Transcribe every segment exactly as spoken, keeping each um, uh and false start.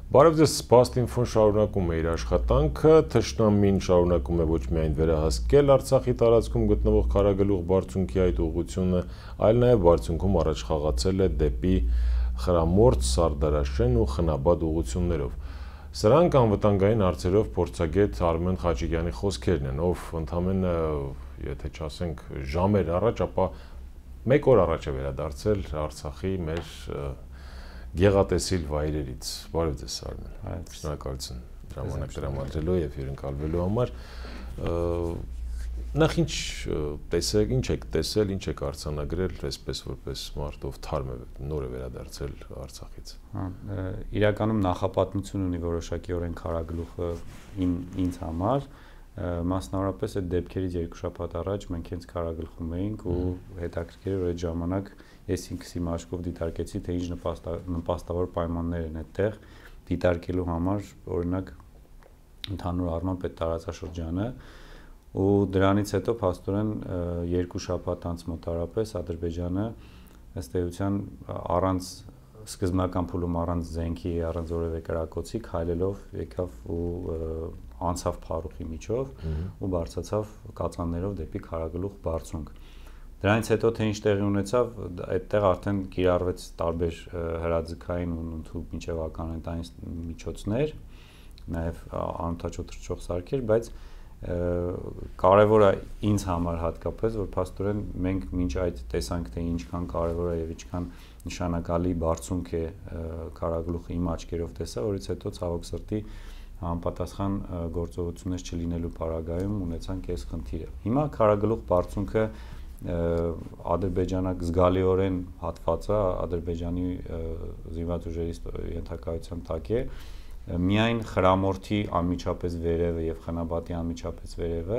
Բարև ձեզ, Spastinfo-ն շարունակում է իր աշխատանքը, թշնամին շարունակում է ոչ միայն վերահսկել Արցախի տարածքում գտնվող Քարագլուխ բարձունքի այդ ուղղությունը, այլ նաև բարձունքում առաջ խաղացել է դեպի Խրամորդ, Սարդարաշեն ու Խնաբադ ուղղություններով։ Սրանք անվտանգային հարցերով փորձագետ Արմեն Խաչիկյանի խոսքերն են, ով ընդամենը, եթե չասենք ժամեր առաջ, ապա մեկ օր առաջ է վերադարձել Արցախի մեր գեղատեսիլ վայրերից։ Բարև ձեզ, Արմեն։ Շնորհակալություն ժամանակ տրամադրելու եւ հյուրընկալվելու համար։ Նախ ինչ տեսեք, ինչ եք տեսել, ինչ եք արձանագրել, այսպես որպես մարդով թարմ է նոր է վերադարձել Արցախից։ Հա, իրականում նախապատմություն ունի որոշակիորեն Քարագլուխը ինձ համար, մասնավորապես այդ դեպքերից երկու շաբաթ առաջ մենք հենց Քարագլխում էինք ու հետաքրքիր էր այդ ժամանակ ես ինքս իմ աչքով դիտարկեցի, թե ինչ նպաստավոր պայմաններ են այդտեղ դիտարկելու համար, օրինակ ընդհանուր առմամբ այդ տարածաշրջանը ու դրանից հետո փաստորեն երկու շաբաթ անց մոտարապես Ադրբեջանը ըստ էության առանց սկզբնական փուլում առանց զենքի, առանց որևէ կրակոցի քայլելով եկավ ու անցավ Փարուխի միջով ու բարձրացավ կածաններով դեպի Քարագլուխ բարձունք։ Դրանից հետո թե ինչ տեղի ունեցավ, այդտեղ արդեն կիրառվեց տարբեր հրաձգային ու ընդհանուր մինչև ականատային միջոցներ, նաև անօդաչու թռչող սարքեր, բայց կարևոր է ինձ համար հատկապես, որ փաստորեն մենք մինչ այդ տեսանք, թե ինչքան կարևոր է եւ ինչքան նշանակալի բարձունք է Քարագլուխը իմ աչքերով տեսա, որից հետո ցավոք սրտի համապատասխան գործողություններ չլինելու պարագայում ունեցանք այս խնդիրը։ Հիմա Քարագլուխ բարձունքը ադրբեջանակ զգալիորեն հատված է, Ադրբեջանի զինված ուժերի ենթակայության տակ է, միայն Խրամորդի անմիջապես վերևը եւ Խնաբադի անմիջապես վերևը,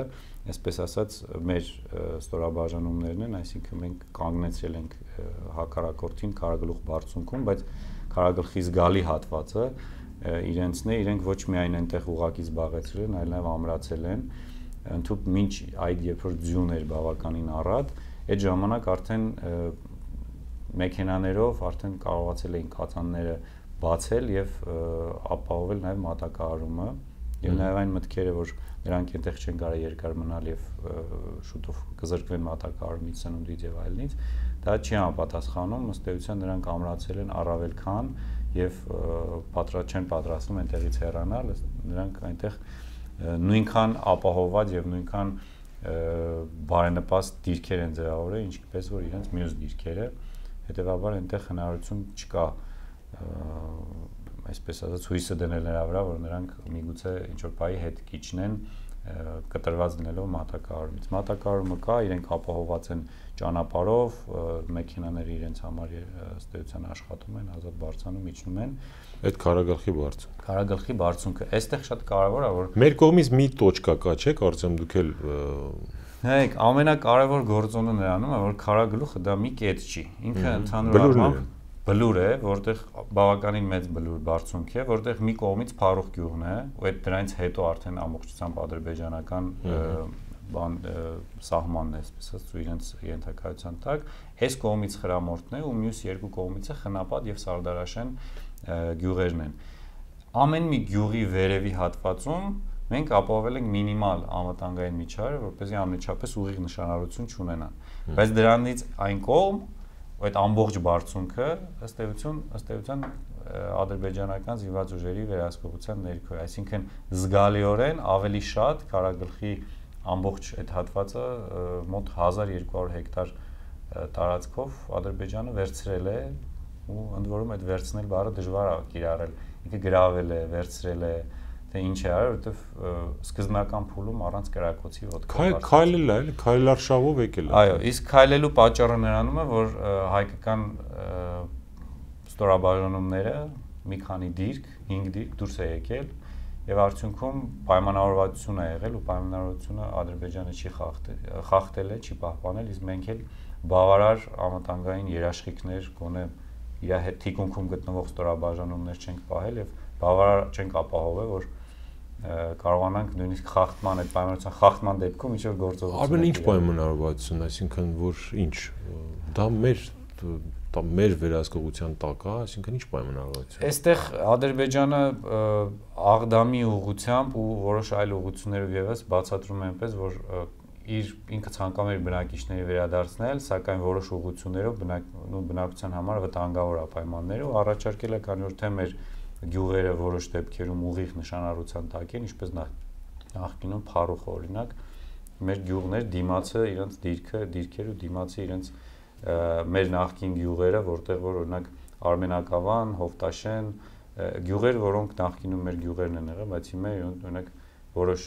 այսպես ասած, մեր ստորաբաժանումներն են, այսինքն մենք կանգնեցրել ենք հակառակորդին Քարագլուխ բարձունքում, բայց Քարագլխի զգալի հատվածը իրենցն է, իրենք ոչ միայն այնտեղ ուղակի զբաղեցրել են, այլ նաեւ ամրացել են, ընդհուպ մինչ այդ երբ որ ձյուն էր բավականին առատ, այդ ժամանակ արդեն մեքենաներով արդեն կարողացել էին կածանները բացել եւ ապահովել նաեւ մատակարարումը եւ նաեւ այն մտքերը, որ նրանք այնտեղ չեն կարող երկար մնալ եւ շուտով կզրկվեն մատակարարումից, սնունդից եւ այլնից, դա չի համապատասխանում, ըստ էության նրանք ամրացել են առավել քան եւ պատրաստ չեն պատրաստվում այնտեղից հեռանալ, նրանք այնտեղ նույնքան ապահովված եւ նույնքան բարենպաստ դիրքեր են ձևավորել, ինչպես որ իրենց մյուս դիրքերը, հետեւաբար այնտեղ հնարավորություն չկա այսպես ասած հույսը դնել նրա վրա, որ նրանք միգուցե ինչ որ բայի հետ կիջնեն կտրված լինելով մատակարարումից։ Մատակարարումը կա, իրենք ապահովված են ճանապարհով, մեքենաները իրենց համար ըստ էության աշխատում են, ազատ բարձրանում իջնում են։ Այդ Քարագլխի բարձունքը։ Քարագլխի բարձունքը, այստեղ շատ կարևոր է, որ մեր կողմից մի տոճկա կա, չէ՞, կարծեմ դուք էլ Հեք, ամենակարևոր գործոնը նրանում է, որ Քարագլուխը դա մի կետ չի։ Ինքը ընդհանուր առմամբ բլուր է, որտեղ բավականին մեծ բլուր բարձունք է, որտեղ մի կողմից Փարուխ գյուղն է, ու այդ դրանից հետո արդեն ամբողջությամբ ադրբեջանական բան սահմանն է, այսպես ասած, ու իրենց ենթակայության տակ, այս կողմից Խրամորդն է ու մյուս երկու կողմից է Խնաբադ եւ Սարդարաշեն գյուղերն են։ Ամեն մի գյուղի վերևի հատվածում մենք ապահովել ենք մինիմալ անվտանգային միջավայր, որպեսզի անմիջապես ուղիղ նշանառություն չունենան։ Բայց դրանից այն կողմ այդ ամբողջ բարձունքը ըստ էության, ըստ էության ադրբեջանական զինված ուժերի վերահսկողության ներքո է, այսինքն զգալիորեն ավելի շատ Քարագլխի ամբողջ այդ հատվածը մոտ հազար երկու հարյուր հեկտար տարածքով Ադրբեջանը վերցրել է ու ընդ որում այդ վերցնել բառը դժվար է կիրառել, ինքը գրավել է, վերցրել է, թե ինչ է արել, որովհետև սկզբնական փուլում առանց կրակոցի ոտքով քայլել է, էլի քայլարշավով եկել է։ Այո, իսկ քայլելու պատճառը նրանում է, որ հայկական ստորաբաժանումները մի քանի դիրք, հինգ դիրք դուրս է եկել եւ արդյունքում պայմանավորվածություն է եղել ու պայմանավորվածությունը Ադրբեջանը չի խախտել, խախտել է, չի պահպանել, իսկ մենք էլ բավարար անվտանգային երաշխիքներ գոնե իր հետ թիկունքում գտնվող ստորաբաժանումներ չենք պահել եւ բավարար չենք ապահովել, որ կարողանանք նույնիսկ խախտման այդ պայմանավորվածության խախտման դեպքում ինչ որ գործողություն։ Արմեն, ինչ պայմանավորվածություն, այսինքն որ ինչ դա մեր դա մեր վերահսկողության տակ է, այսինքն ինչ պայմանավորվածություն։ Այստեղ Ադրբեջանը Աղդամի ուղղությամբ ու որոշ այլ ուղղություններով եւս բացատրում է այնպես, որ իր ինքը ցանկանում էր բնակիչների վերադարձնել, սակայն որոշ ուղղություններով բնակության համար վտանգավոր պայմաններ ու առաջարկել է, քանի որ թե մեր գյուղերը որոշ դեպքերում ուղիղ նշանառության տակ են, ինչպես նախկինում Փարուխը օրինակ, մեր գյուղներ դիմացը իրենց դիրքը, դիրքեր ու դիմացը իրենց մեր նախկին գյուղերը, որտեղ որ օրինակ Արմենակավան, Հովտաշեն, գյուղեր, որոնք նախկինում մեր գյուղերն են եղել, բայց հիմա օրինակ որոշ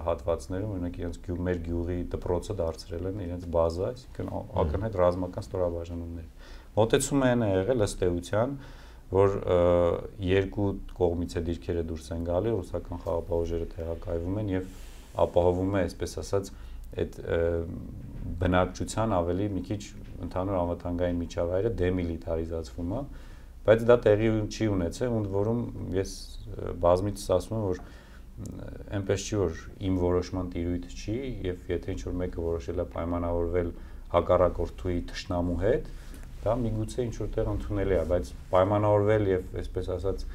հատվածներում օրինակ իրենց գյուղ մեր գյուղի դպրոցը դարձրել են իրենց բազա, այսինքն ակնհայտ ռազմական ստորաբաժանումներ։ Մոտեցումը այն է եղել ըստ էության, որ երկու կողմից է դիրքերը դուրս են գալի, ռուսական խաղապահուժերը տեղակայվում են եւ ապահովում է, այսպես ասած, այդ բնակչության ավելի մի քիչ ընդհանուր անվտանգային միջավայրը դեմիլիտարիզացվում է, բայց դա տեղի չի ունեցել, ընդ որում ես բազմիցս ասում եմ, որ այնպես չի, որ իմ որոշման տիրույթ չի եւ եթե ինչ-որ մեկը որոշել է պայմանավորվել հակառակորդուի թշնամու հետ, դա միգուցե ինչ-որ տեղ ընդունելի է, բայց պայմանավորվել եւ այսպես ասած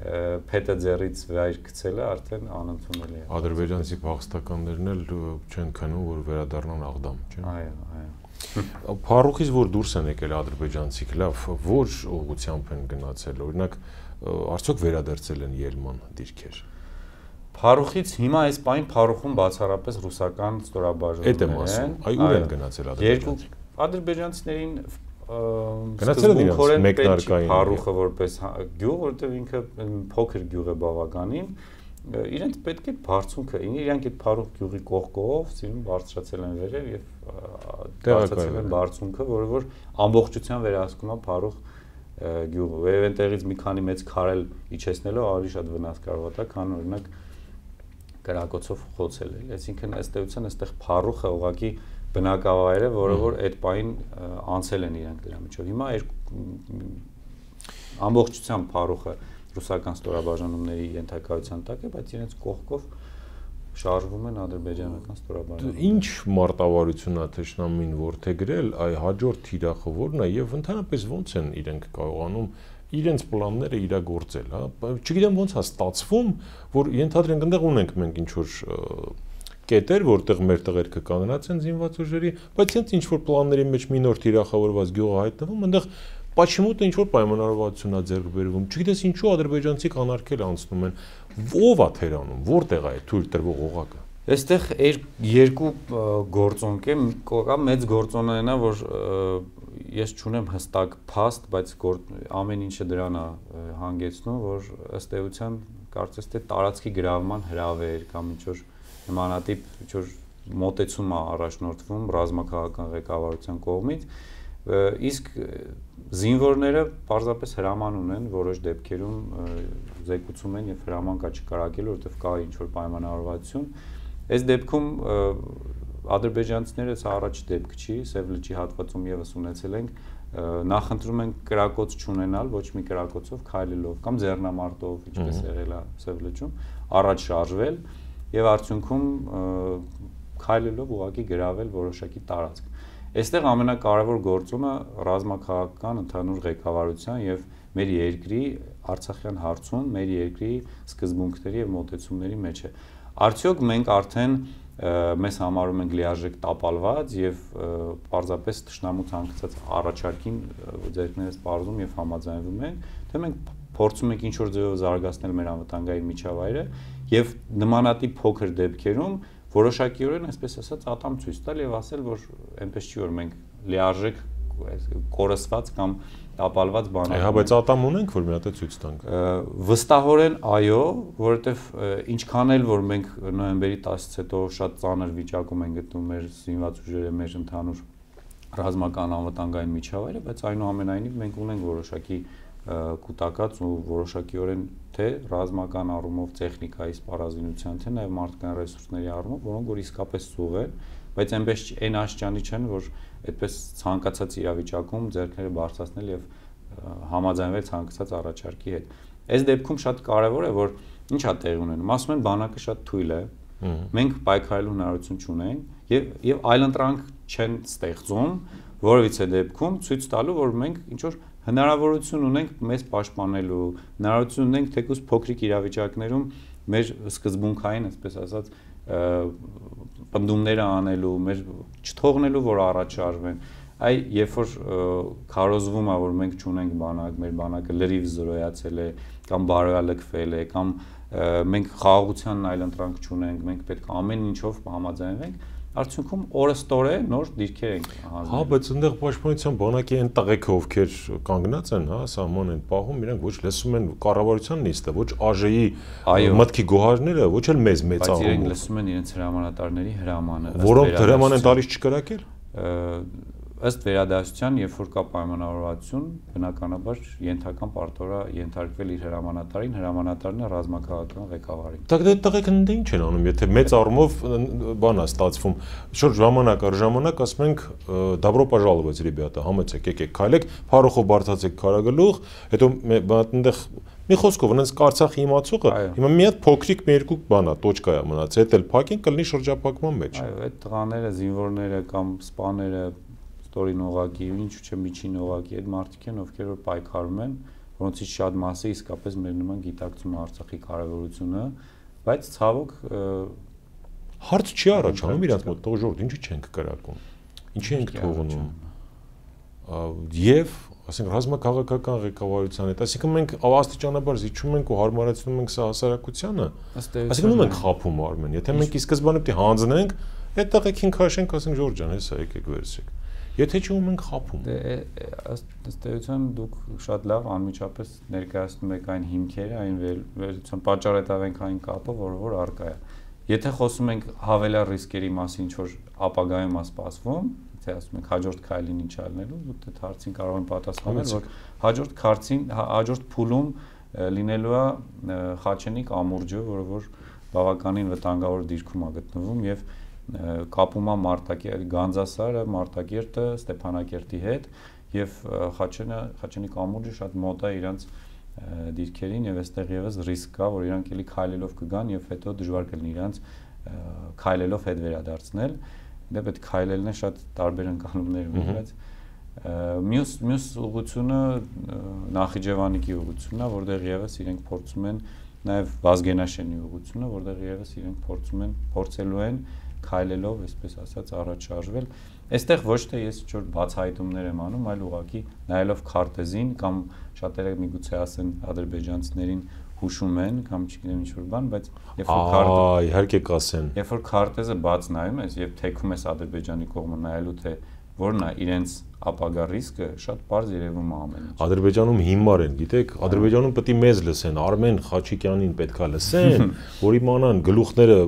փետը ձեռից վայր գցելը արդեն անընդունելի է։ Ադրբեջանցի փախստականներն էլ չեն քնում, որ վերադառնան Աղդամ, չէ՞։ Այո, այո։ Փարուխից որ դուրս են եկել ադրբեջանցիք, լավ, որ ուղղությամբ են գնացել, օրինակ, արդյոք վերադարձել են Ելման դիրքեր։ Փարուխից հիմա այս պայն Փարուխում բացառապես ռուսական ստորաբաժանումներ են։ Այ ուր են գնացել ադրբեջանցիք։ Ադրբեջանցիներին գնացել են իրենց մեկնարկային Փարուխը որպես գյուղ, որտեղ ինքը փոքր գյուղ է բավականին, իրենց պետք է բարձունքը, իրանք այդ Փարուխ գյուղի կողքով սիրուն բարձրացել են վերև եւ բարձրացել են բարձունքը, որը որ ամբողջությամբ վերահսկում է Փարուխ գյուղը։ Եվ այնտեղից մի քանի մեծ քարել իջեցնելով ավելի շատ վնաս կարող է տա, քան օրինակ կրակոցով խոցել է։ Այսինքն ըստ էության այստեղ Փարուխը ուղղակի բնակավայր է, որը որ այդ պայն անցել են իրանք դրա միջով։ Հիմա ամբողջությամբ Փարուխը ռուսական ստորաբաժանումների ենթակայության տակ է, բայց իրենց կողքով շարժվում են ադրբեջանական ստորաբաժանումները։ Ինչ մարտավարություն է թշնամին որդեգրել, այ հաջորդ թիրախը որն է եւ ընդհանրապես ոնց են իրենք կարողանում իրենց պլանները իրագործել, հա։ Չգիտեմ ոնց է ստացվում, որ ենթադրենք այնտեղ ունենք մենք ինչ որ կետեր, որտեղ մեր տղերքը կանոնած են զինված ուժերի, բայց հենց ինչ որ պլանների մեջ մի նոր թիրախավորված գյուղ հայտնվում, այնտեղ Պաչիմուտը ինչ որ պայմանավորվածություն է ձեռք բերվում, չգիտես ինչու ադրբեջանցիք անարգել անցնում են, ով է թերանում, որտեղ է թույլ տրվող օղակը։ Այստեղ երկու գործոնք է, կա մեծ գործոնը այնա, որ ես չունեմ հստակ փաստ, բայց ամեն ինչը դրան է հանգեցնում, որ ըստ էության կարծես թե տարածքի գրավման հրավեր կամ ինչ որ նմանատիպ ինչ որ մոտեցում է առաջնորդվում ռազմաքաղաքական ղեկավարության կողմից, իսկ զինվորները պարզապես հրաման ունեն որոշ դեպքերում զեկուցում են եւ հրաման կա չկարակելու, որովհետեւ կա ինչ որ պայմանավորվածություն։ Այս դեպքում ադրբեջանցիները սա առաջ դեպք չի, Սև լճի հատվածում եւս ունեցել ենք, նախընտրում են կրակոց չունենալ, ոչ մի կրակոցով քայլելով կամ ձեռնամարտով, ինչպես եղել է Սև լճում, առաջ շարժվել եւ արդյունքում քայլելով ուղղակի գրավել որոշակի տարածք։ Այստեղ ամենակարևոր գործոնը ռազմաքաղաքական ընդհանուր ղեկավարության եւ մեր երկրի Արցախյան հարցում մեր երկրի սկզբունքների եւ մոտեցումների մեջ է։ Արդյոք մենք արդեն մեզ համարում ենք լիարժեք տապալված եւ պարզապես թշնամու ցանկացած առաջարկին ձեռքներս պարզում եւ համաձայնվում ենք, թե մենք փորձում ենք ինչ-որ ձևով զարգացնել մեր անվտանգային միջավայրը եւ նմանատիպ փոքր դեպքերում որոշակիորեն, այսպես ասած, ատամ ցույց տալ եւ ասել, որ այնպես չի, որ մենք լիարժեք կորսված կամ տապալված բան ենք։ Այո, բայց ատամ ունենք, որ մի հատ է ցույց տանք։ Վստահորեն այո, որովհետեւ ինչքան էլ որ մենք նոյեմբերի տասից հետո շատ ծանր վիճակում ենք գտնում մեր զինված ուժերը, մեր ընդհանուր ռազմական անվտանգային միջավայրը, բայց այնուամենայնիվ մենք ունենք որոշակի կուտակած ու որոշակիորեն թե ռազմական առումով տեխնիկայի սպառազինության, թե նաև մարդկային ռեսուրսների առումով, որոնք որ իսկապես սուղ են, բայց այնպես այն աշճանի չեն, որ այդպես ցանկացած իրավիճակում ձեռքները բարձրացնել եւ համաձայնվել ցանկացած առաջարկի հետ։ Այս դեպքում շատ կարեւոր է, որ ինչ է տեղի ունենում։ Ասում են բանակը շատ թույլ է, մենք պայքարելու հնարավորություն չունենք եւ եւ այլընտրանք չեն ստեղծում, որևիցե դեպքում ցույց տալու, որ մենք ինչ որ հնարավորություն ունենք մեզ պաշտպանելու, հնարավորություն ունենք թեկուզ փոքրիկ իրավիճակներում մեր սկզբունքային, այսպես ասած, պնդումները անելու, մեր չթողնելու, որ առաջ արվեն։ Այ երբ որ քարոզվում է, որ մենք չունենք բանակ, մեր բանակը լրիվ զրոյացել է կամ բարոյալքվել է, կամ մենք խաղաղությանն այլընտրանք չունենք, մենք պետք է ամեն ինչով համաձայնվենք, արդյունքում օրստորե նոր դիրքեր ենք հանձնել։ Հա, բայց այնտեղ պաշտպանության բանակի այն տղեկը, ովքեր կանգնած են, հա, սահման են պահում, իրենք ոչ լսում են կառավարության նիստը, ոչ ԱԺ-ի մտքի գոհարները, ոչ էլ մեզ մեծանում։ Բայց իրենք լսում են իրենց հրամանատարների հրամանը, որոնք հրաման են տալիս չկրակել։ Ըստ վերադասության, երբ որ կա պայմանավորվածություն, բնականաբար ենթական պարտորա ենթարկվել իր հրամանատարին, հրամանատարն է ռազմաքաղաքական ղեկավարին։ Դա դե տղեկն դե ինչ են անում, եթե մեծ առումով բան է ստացվում, շուտ ժամանակ առ ժամանակ ասում ենք добро пожаловать, ребята, համեցեք, եկեք, քայլեք, փարոխով բարձացեք քարագլուխ, հետո այնտեղ մի խոսքով այնց Արցախի իմացողը հիմա մի հատ փոքրիկ մի երկու բան է, տոճկա է մնաց, հետ էլ փակին կլինի շրջափակման մեջ։ Այո, այդ տղաները, զինվորները կամ սպաները ստորին օղակի, ինչու՞ չէ միջին օղակի, այդ մարդիկ են, ովքեր որ պայքարում են, որոնցից շատ մասը իսկապես մեր նման գիտակցում է Արցախի կարևորությունը, բայց ցավոք հարց չի առաջանում իրանց մոտ, թող ժողովուրդ, ինչու չենք կրակում, ինչի ենք թողնում, եւ ասենք ռազմաքաղաքական ղեկավարության հետ, այսինքն մենք աստիճանաբար զիջում ենք ու հարմարեցնում ենք սա հասարակությանը, այսինքն ում ենք խափում Արմեն, եթե մենք ի սկզբանե պետք է հանձնենք, այդ տղեկին քաշենք, ասենք Ժորժ ջան, հեսա եկեք վերցրեք։ Եթե չի ում ենք խափում։ Դե ըստ էության դուք շատ լավ անմիջապես ներկայացնում եք այն հիմքերը, այն վերլուծության պատճառետավենքային կապը, որը որ առկա է։ Եթե խոսում ենք հավելյալ ռիսկերի մասին, ինչ որ ապագայում է սպասվում, թե ասում ենք հաջորդ քայլին ինչ անելու, դուք այդ հարցին կարող են պատասխանել, որ հաջորդ քարտին, հաջորդ փուլում լինելու է Խաչենի կամուրջը, որը որ բավականին վտանգավոր դիրքում է գտնվում եւ կապում է Մարտակերտ, Գանձասարը, Մարտակերտը Ստեփանակերտի հետ եւ Խաչենը, Խաչենի կամուրջը շատ մոտ է իրանց դիրքերին եւ այստեղ եւս ռիսկ կա, որ իրանք էլի քայլելով կգան եւ հետո դժվար կլինի իրանց քայլելով հետ վերադարձնել։ Դե պետք քայլելն է շատ տարբեր ընկալումներ ունի, բայց մյուս մյուս ուղղությունը Նախիջևանիկի ուղղությունն է, որտեղ եւս իրենք փորձում են նաեւ Վազգենաշենի ուղղությունը, որտեղ եւս իրենք փորձում են փորձելու են քայլելով, այսպես ասած, առաջ շարժվել։ Այստեղ ոչ թե ես ինչ-որ բացահայտումներ եմ անում, այլ ուղղակի նայելով քարտեզին կամ շատերը միգուցե ասեն ադրբեջանցիներին հուշում են կամ չգիտեմ ինչ-որ բան, բայց երբ որ քարտեզը իհարկե կասեն, երբ որ քարտեզը բաց նայում ես եւ թեքում ես Ադրբեջանի կողմը նայելու թե որն է իրենց ապագա ռիսկը, շատ པարզ երևում է ամեն ինչ։ Ադրբեջանում հիմար են, գիտեք, Ադրբեջանում պետք է մեզ լսեն, Արմեն Խաչիկյանին պետքա լսեն, որ իմանան գլուխները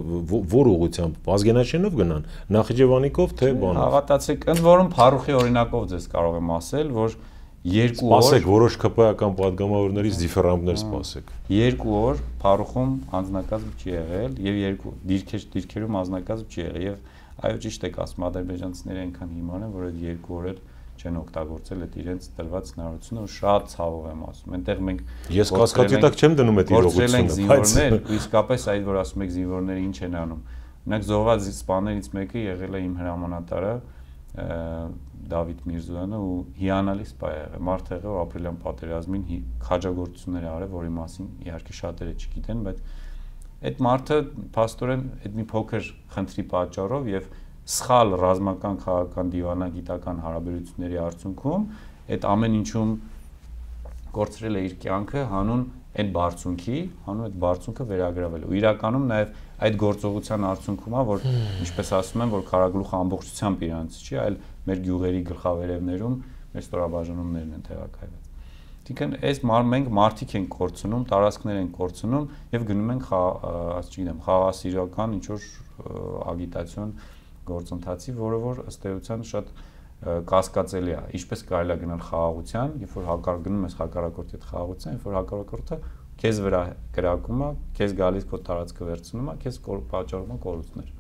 որ ուղղությամբ, Վազգենաշենով գնան, Նախիջևանիկով թե բանով։ Հավատացեք, ընդ որում Փարուխի օրինակով ձեզ կարող եմ ասել, որ երկու օր սպասեք որոշ ԿՊԱ-ական падգամավորներից դիֆերանտներ սպասեք։ Երկու օր Փարուխում անձնակազմ չի եղել եւ երկու դիրքեր դիրքերում անձնակազմ չի եղել եւ այո ճիշտ եք ասում, ադրբեջանցիները այնքան հիմար են, որ այդ երկու օր էլ չեն օգտագործել այդ իրենց տրված հնարավորությունը, ու շատ ցավով եմ ասում։ Այնտեղ մենք ես կասկածի տակ չեմ դնում այդ իրողությունը, բայց ու իսկապես այդ որ ասում եք զինվորները ինչ են անում։ Օրինակ զոհված սպաներից մեկը եղել է իմ հրամանատարը Դավիթ Միրզոյանը ու հիանալի սպա է եղել։ Մարդ եղել ապրիլյան պատերազմին քաջագործություններ արել, որի մասին իհարկե շատերը չգիտեն, բայց այդ մարդը փաստորեն այդ մի փոքր խնդրի պատճառով եւ սխալ ռազմական քաղաքական դիվանագիտական հարաբերությունների արդյունքում այդ ամեն ինչում կորցրել է իր կյանքը հանուն այդ բարձունքի, հանուն այդ բարձունքը վերագրավել։ Ու իրականում նաեւ այդ գործողության արդյունքում է, որ ինչպես ասում են, որ քարագլուխը ամբողջությամբ իրանց չի, այլ մեր գյուղերի գլխավերևներում մեր ստորաբաժանումներն են տեղակայված։ Այսինքն այս մենք մարդիկ են կորցնում, տարածքներ են կորցնում եւ գնում ենք, ասեմ, խաղաղասիրական ինչ որ ագիտացիոն գործընթացի, որը որ ըստ էության շատ կասկածելի է։ Ինչպես կարելի է գնալ խաղաղության, երբ որ հակառակ գնում ես հակառակորդի հետ խաղաղության, երբ որ հակառակորդը քեզ վրա կրակում է, քեզ գալիս քո տարածքը վերցնում է, քեզ պատճառում է կորուստներ։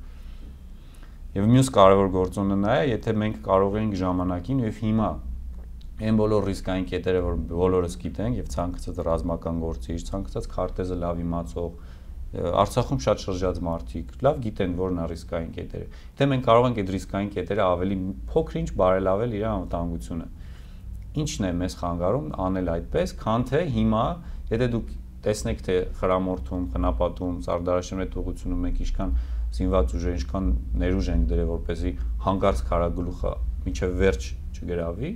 Եվ մյուս կարևոր գործոնը նա է, եթե մենք կարող ենք ժամանակին եւ հիմա այն բոլոր ռիսկային կետերը, որ բոլորս գիտենք եւ ցանկացած ռազմական գործիչ, ցանկացած քարտեզը լավ իմացող Արցախում շատ շրջած մարդիկ լավ գիտեն որն է ռիսկային կետերը։ Դե մենք կարող ենք այդ ռիսկային կետերը ավելի փոքր-ինչ բարելավել իր անվտանգությունը։ Ինչն է մեզ խանգարում անել այդպես, քան թե հիմա, եթե դուք տեսնեք թե խրամորթում, խնապատում, Սարդարաշրջանի այդ ուղղությունում մենք ինչքան զինված ուժեր, ինչքան ներուժ ենք դրել, որպեսզի հանկարծ քարագլուխը մինչև վերջ չգրավի,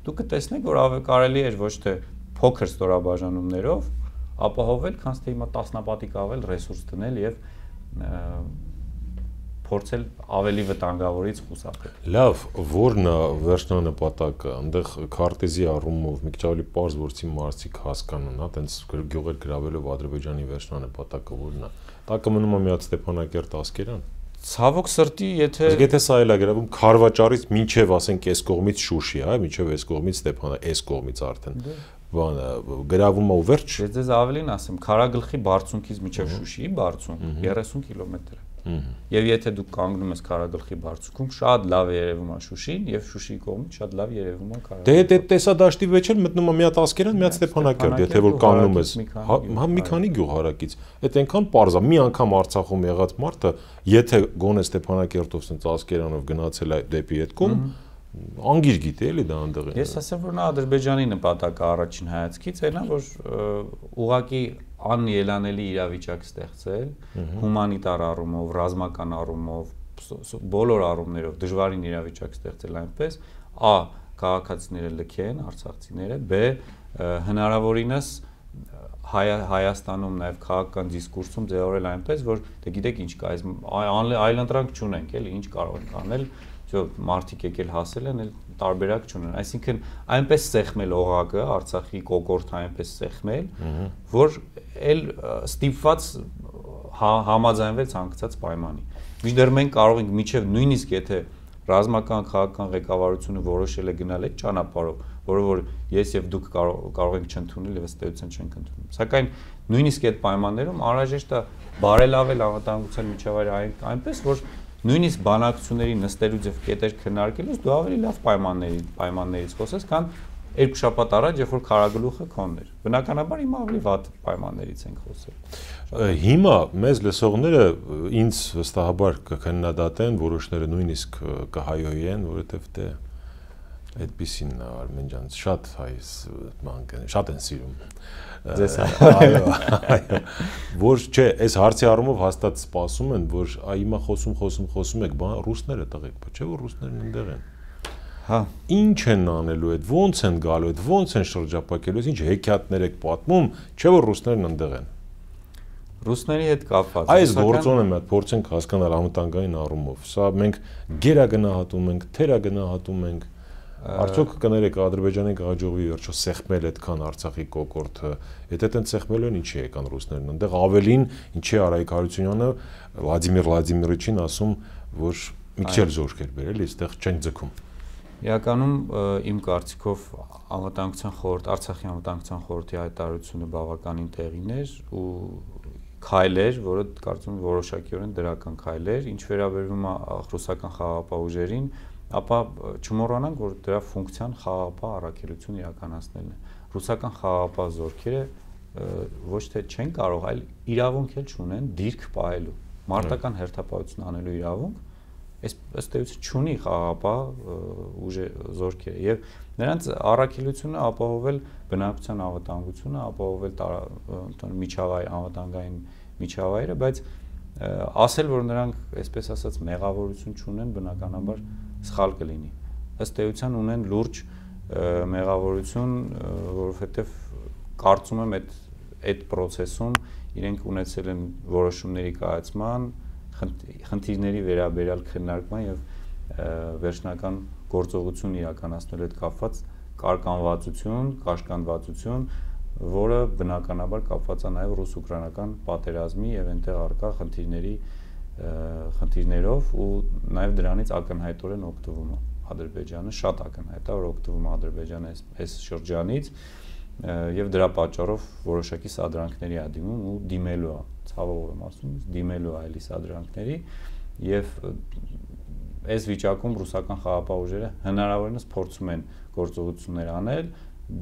դուք կտեսնեք, որ կարելի էր ոչ թե փոքր ստորաբաժանումներով ապահովել, քան թե հիմա տասնապատիկ ավել ռեսուրս դնել եւ փորձել ավելի վտանգավորից խուսափել։ Լավ, որն է վերջնանպատակը, այնտեղ քարտեզի առումով մի քիչ ավելի པարզ որցի մարզիկ հասկանան, հա, տենց գյուղեր գրավելով Ադրբեջանի վերջնանպատակը որն է։ Տակը մնում է միած Ստեփանակերտ Ասկերան։ Ցավոք սրտի, եթե Եթե սա էլ է գրավում Խարվաճարից մինչև ասենք այս կողմից Շուշի, հա, մինչև այս կողմից Ստեփանա, այս կողմից արդեն բանը գրավում է ու վերջ։ Ես ձեզ ավելին ասեմ, Քարագլխի բարձունքից մինչև Շուշիի բարձունք երեսուն կիլոմետր է։ Եվ եթե դուք կանգնում ես Քարագլխի բարձունքում, շատ լավ է երևում է Շուշին, եւ Շուշիի կողմից շատ լավ երևում է Քարագլխը։ Դե դե տեսադաշտի մեջ էլ մտնում է միած Ասկերան, միած Ստեփանակերտ, եթե որ կանգնում ես, հա մի քանի գյուղ հարակից։ Այդ այնքան པարզ է, մի անգամ Արցախում եղած մարդը, եթե գոնե Ստեփանակերտով սենց Ասկերանով գնացել է դեպի այդ կողմ, անգիր գիտի էլի դա այնտեղ։ Ես ասեմ, որ նա Ադրբեջանի նպատակը առաջին հայացքից այնա, որ ուղղակի անելանելի իրավիճակ ստեղծել, հումանիտար առումով, ռազմական առումով, բոլոր առումներով դժվարին իրավիճակ ստեղծել այնպես, ա քաղաքացիները լքեն, արցախցիները, բ հնարավորինս Հայաստանում նաև քաղաքական դիսկուրսում ձևավորել այնպես, որ դե գիտեք ինչ կա, այլընտրանք չունենք, էլի ինչ կարող ենք անել, જો մարդիկ եկել հասել են, էլ տարբերակ չունեն։ Այսինքն այնպես սեղմել օղակը, Արցախի կոկորտը այնպես սեղմել, որ էլ ստիպված համաձայնվել ցանկացած պայմանի։ Մինչդեռ մենք կարող ենք միջև նույնիսկ եթե ռազմական քաղաքական ղեկավարությունը որոշել է գնալ այդ ճանապարհով, որը որ ես եւ դուք կարող ենք չընդունել եւ ըստ էության չենք ընդունում։ Սակայն նույնիսկ այդ պայմաններում անհրաժեշտ է բարելավել անվտանգության միջավայրը այնպես, որ նույնիսկ բանակցությունների նստելու ձև կետեր քննարկելուց դու ավելի լավ պայմանների պայմաններից խոսես, քան երկու շաբաթ առաջ, երբ որ Քարագլուխը քոնն էր։ Բնականաբար հիմա ավելի վատ պայմաններից ենք խոսել։ Հիմա մեզ լսողները ինձ վստահաբար կքննադատեն, որոշները նույնիսկ կհայոյեն, որովհետև դե այդպեսին Արմեն ջան, շատ հայս մանկ շատ են սիրում։ Ձեզ այո, այո։ Որ չէ, այս հարցի առումով հաստատ սպասում են, որ հիմա խոսում, խոսում, խոսում եք, բան ռուսները տղեկ, չէ՞ որ ռուսներն այնտեղ են։ Հա, ինչ են անելու այդ, ո՞նց են գալու այդ, ո՞նց են շրջապատելու, ինչ հեքիաթներ եք պատմում, չէ՞ որ ռուսներն այնտեղ են։ Ռուսների հետ կապված։ Այս գործոնը մի հատ փորձենք հասկանալ անվտանգային առումով։ Սա մենք գերագնահատում ենք, թերագնահատում ենք։ Արդյոք կներեք Ադրբեջանի գաղաջողի վերջո սեղմել այդքան Արցախի կոկորտը, եթե այդտեղ սեղմելու են ինչի եկան ռուսներն, այնտեղ ավելին ինչի Արայիկ Հարությունյանը Վլադիմիր Վլադիմիրիչին ասում, որ մի քիչ էլ զորք էր բերել, այստեղ չեն ձգում։ Իրականում իմ կարծիքով անվտանգության խորհուրդ, Արցախի անվտանգության խորհրդի հայտարարությունը բավականին տեղին էր ու քայլ էր, որը կարծում եմ որոշակիորեն դրական քայլ էր, ինչ վերաբերում է ռուսական խաղաղապահ ուժերին, ապա չմոռանանք, որ դրա ֆունկցիան խաղաղապահ առաքելություն իրականացնելն է։ Ռուսական խաղաղապահ զորքերը ոչ թե չեն կարող, այլ իրավունք էլ չունեն դիրք պահելու, մարտական հերթապահություն անելու իրավունք, ըստ էության չունի խաղաղապահ ուժը զորքերը եւ նրանց առաքելությունը ապահովել բնակության անվտանգությունը, ապահովել միջավայր անվտանգային միջավայրը, բայց ասել, որ նրանք, այսպես ասած, մեղավորություն չունեն, բնականաբար սխալ կլինի։ Ըստ էության ունեն լուրջ մեղավորություն, որովհետև կարծում եմ այդ այդ process-ում իրենք ունեցել են որոշումների կայացման, խնդիրների վերաբերյալ քննարկման եւ վերջնական գործողություն իրականացնելու հետ կապված կարգանվածություն, կաշկանդվածություն, որը բնականաբար կապված է նաեւ ռուս-ուկրաինական պատերազմի եւ այնտեղ առկա խնդիրների խնդիրներով ու նաև դրանից ակնհայտորեն օգտվում է Ադրբեջանը, շատ ակնհայտ է, որ օգտվում է Ադրբեջանը այս շրջանից եւ դրա պատճառով որոշակի սադրանքների է դիմում ու դիմելու է, ցավով եմ ասում, դիմելու է այլի սադրանքների եւ այս վիճակում ռուսական խաղաղապահ ուժերը հնարավորինս փորձում են գործողություններ անել,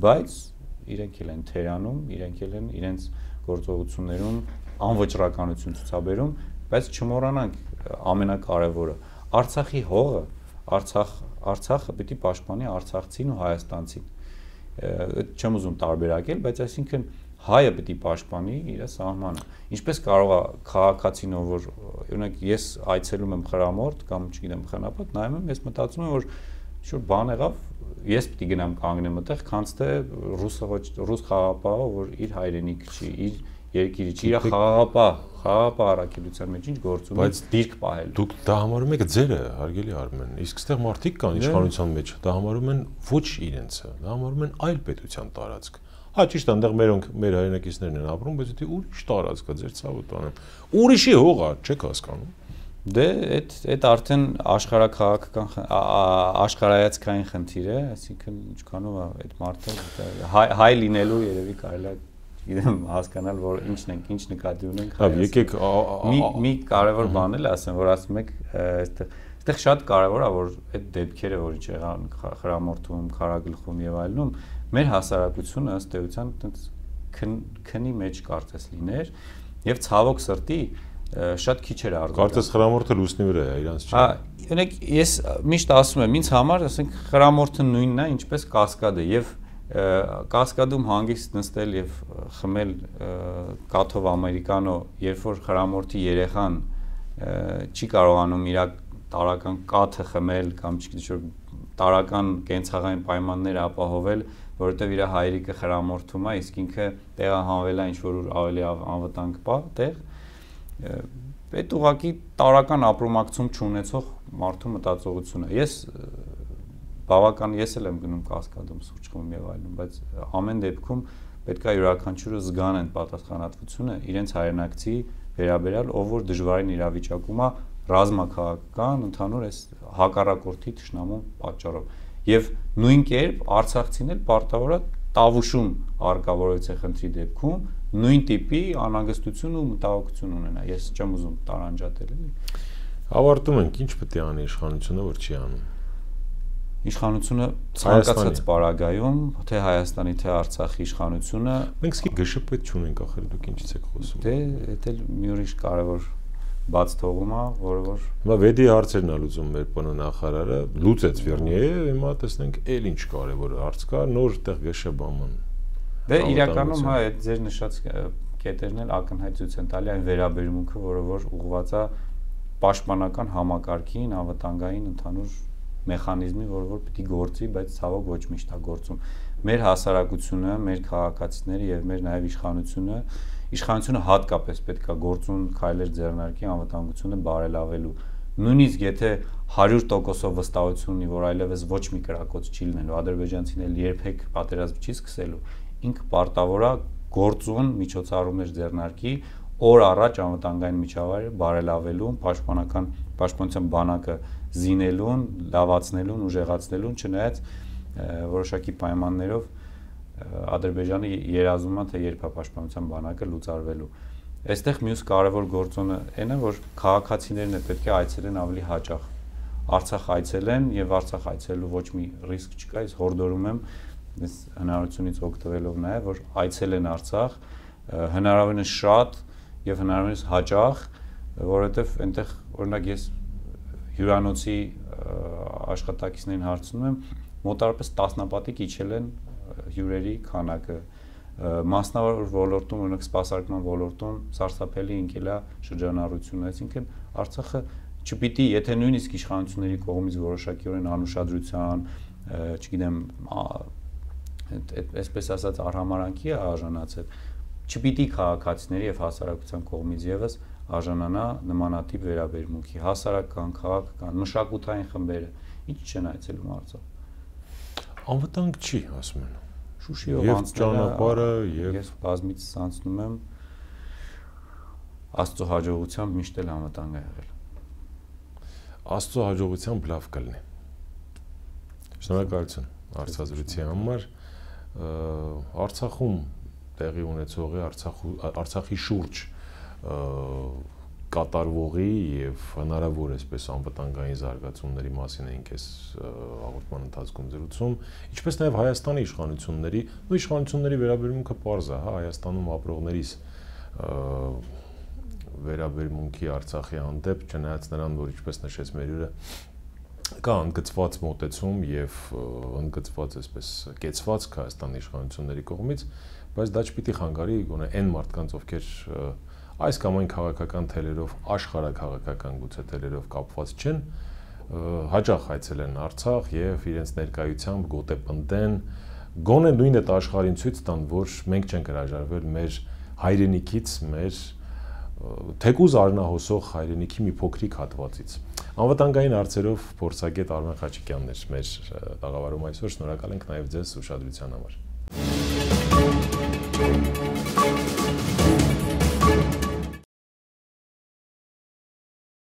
բայց իրենք էլ են թերանում, իրենք էլ են իրենց գործողություններում անվճռականություն ցուցաբերում, բայց չմոռանանք ամենակարևորը, Արցախի հողը, Արցախ Արցախը պիտի պաշտպանի արցախցին ու հայաստանցին։ Չեմ ուզում տարբերակել, բայց այսինքն հայը պիտի պաշտպանի իր սահմանը։ Ինչպես կարող է քաղաքացին, որ օրինակ ես այցելում եմ Խրամորդ կամ չգիտեմ Խնապատ, նայում եմ, ես մտածում եմ, որ շուտ բան եղավ, ես պիտի գնամ կանգնեմ այդտեղ, քանց թե ռուսը ոչ ռուս խաղապահը, որ իր հայրենիքը չի, իր երկիրը չի, իր խաղապահ, խաղապահ առաքելության մեջ ինչ գործում է, բայց դիրք պահել։ Դուք դա համարում եք ձերը, հարգելի Արմեն, իսկ այստեղ մարդիկ կան իշխանության մեջ, դա համարում են ոչ իրենցը, դա համարում են այլ պետության տարածք։ Հա ճիշտ է, այնտեղ մերոնք մեր հայրենակիցներն են ապրում, բայց դա ուրիշ տարածք է, ձեր ցավը տանեմ։ Ուրիշի հող է, չեք հասկանում։ Դե այդ այդ արդեն աշխարհակաղակական աշխարհայացքային խնդիր է, այսինքն ինչքանով է այդ մարդը հայ լինելու երևի կարելի է, գիտեմ, հասկանալ, որ ինչն ենք, ինչ նկատի ունենք։ Հա, եկեք մի մի կարևոր բան էլ ասեմ, որ ասում եք, այստեղ այստեղ շատ կարևոր է, որ այդ դեպքերը, որ ինչ եղան Խրամորթում, Քարագլխում եւ այլնում, մեր հասարակությունը ըստ էության այտենց քնի մեջ կարծես լիներ եւ ցավոք սրտի շատ քիչ էր արձագանք։ Կարծես Խրամորթը լուսնի վրա է, իրանց չի։ Հա, օրինակ ես միշտ ասում եմ, ինձ համար, ասենք, Խրամորթը նույնն է, ինչպես Կասկադը եւ Կասկադում հանգիստ նստել եւ խմել կաթով ամերիկանո, երբ որ Խրամորթի երեխան չի կարողանում իր տարական կաթը խմել կամ չգիտեմ տարական կենցաղային պայմաններ ապահովել, որովհետեւ իր հայրիկը Խրամորթում է, իսկ ինքը տեղահանվել է ինչ որ ավելի անվտանգ պա տեղ։ Այդ ուղղակի տարական ապրոմակցում չունեցող մարդու մտածողությունը։ Ես բավական ես էլ եմ գնում Կասկադում սուրճ խմում եւ այլն, բայց ամեն դեպքում պետք է յուրաքանչյուրը զգան այն պատասխանատվությունը իրենց հայրենակցի վերաբերյալ, ով որ դժվարին իրավիճակում է ռազմաքաղաքական ընդհանուր այս հակառակորդի թշնամու պատճառով։ Եվ նույն կերպ Արցախցին էլ պարտավոր է տավուշում արկավորեցի խնդրի դեպքում նույն տիպի անհանգստություն ու մտահոգություն ունենա։ Ես չեմ ուզում տարանջատել էլի։ Ավարտում ենք, ինչ պետք է անի իշխանությունը, որ չի անում։ Իշխանությունը ցանկացած պարագայում, թե Հայաստանի, թե Արցախի իշխանությունը, մենք սկի գշպետ չունենք, ախր դուք ինչից եք խոսում։ Դե, դա էլ մի ուրիշ կարևոր բաց թողում է, որը որ Հիմա վեդի հարցերն է լուծում մեր ՊՆ նախարարը, լուծեց Վերնիեը, հիմա տեսնենք էլ ինչ կարևոր հարց կա, նոր տեղ գշբաման։ Դե իրականում հա այդ ձեր նշած կետերն էլ ակնհայտ ցույց են տալի այն վերաբերմունքը, որը որ ուղղված է պաշտպանական համակարգին, անվտանգային ընդհանուր մեխանիզմի, որը որ պիտի գործի, բայց ցավոք ոչ միշտ է գործում։ Մեր հասարակությունը, մեր քաղաքացիները եւ մեր նաեւ իշխանությունը, իշխանությունը հատկապես պետք է գործուն քայլեր ձեռնարկի անվտանգությունը բարելավելու։ Նույնիսկ եթե հարյուր տոկոսով վստահություն ունի, որ այլևս ոչ մի կրակոց չի լինելու, ադրբեջանցին էլ երբեք պատերազմ չի սկսելու, ինքը պարտավոր է գործուն միջոցառումներ ձեռնարկի օր առաջ անվտանգային միջավայրը բարելավելուն, պաշտպանական պաշտպանության բանակը զինելուն, լավացնելուն, ուժեղացնելուն, չնայած որոշակի պայմաններով Ադրբեջանը երազում է, թե երբ է պաշտպանության բանակը լուծարվելու։ Այստեղ մյուս կարևոր գործոնը այն է, որ քաղաքացիներն պետք է այցելեն ավելի հաճախ։ Արցախ այցելեն եւ Արցախ այցելելու ոչ մի ռիսկ չկա, ես հորդորում եմ այս հնարավորությունից օգտվելով նաեւ, որ այցելեն Արցախ հնարավորինս շատ եւ հնարավորինս հաճախ, որովհետեւ այնտեղ օրինակ ես հյուրանոցի աշխատակիցներին հարցնում եմ, մոտարապես տասնապատիկ իջել են հյուրերի քանակը, մասնավոր ոլորտում, օրինակ սպասարկման ոլորտում սարսափելի ընկել է շրջանառությունը, այսինքն Արցախը չպիտի, եթե նույնիսկ իշխանությունների կողմից որոշակիորեն անուշադրության, չգիտեմ, այսպես ասած արհամարանքի է արժանացել, չպիտի քաղաքացիների եւ հասարակության կողմից եւս արժանանա նմանատիպ վերաբերմունքի, հասարակական, քաղաքական, մշակութային խմբերը, ինչ չեն այցելում Արցախ։ Անվտանգ չի, ասում են։ Շուշիով անցնելը եւ ես բազմից անցնում եմ Աստծո հաջողությամբ միշտ էլ անվտանգ է եղել։ Աստծո հաջողությամբ լավ կլինի։ Շնորհակալություն հարցազրույցի համար։ Արցախում տեղի ունեցողի Արցախի շուրջ կատարվողի եւ հնարավոր այսպես անվտանգային զարգացումների մասին էինք այս հաղորդման ընթացքում զրուցում, ինչպես նաեւ Հայաստանի իշխանությունների, ու իշխանությունների վերաբերմունքը պարզ է, հա, Հայաստանում ապրողներիս վերաբերմունքի Արցախի հանդեպ, չնայած նրան, որ ինչպես նշեց Մերյուրը, կա ընդգծված մոտեցում եւ ընդգծված այսպես կեցվածք Հայաստանի իշխանությունների կողմից, բայց դա չպիտի խանգարի գոնե այն մարդկանց, ովքեր այս կամ այն քաղաքական թելերով, աշխարհաքաղաքական գուցե թելերով կապված չեն, հաճախ այցելեն Արցախ եւ իրենց ներկայությամբ գոտեպնդեն, գոնե նույն այդ աշխարհին ցույց տան, որ մենք չենք հրաժարվել մեր հայրենիքից, մեր թեկուզ արնահոսող հայրենիքի մի փոքրիկ հատվածից։ Անվտանգային հարցերով փորձագետ Արմեն Խաչիկյանն էր մեր տաղավարում այսօր, շնորհակալ ենք նաև ձեզ ուշադրության համար։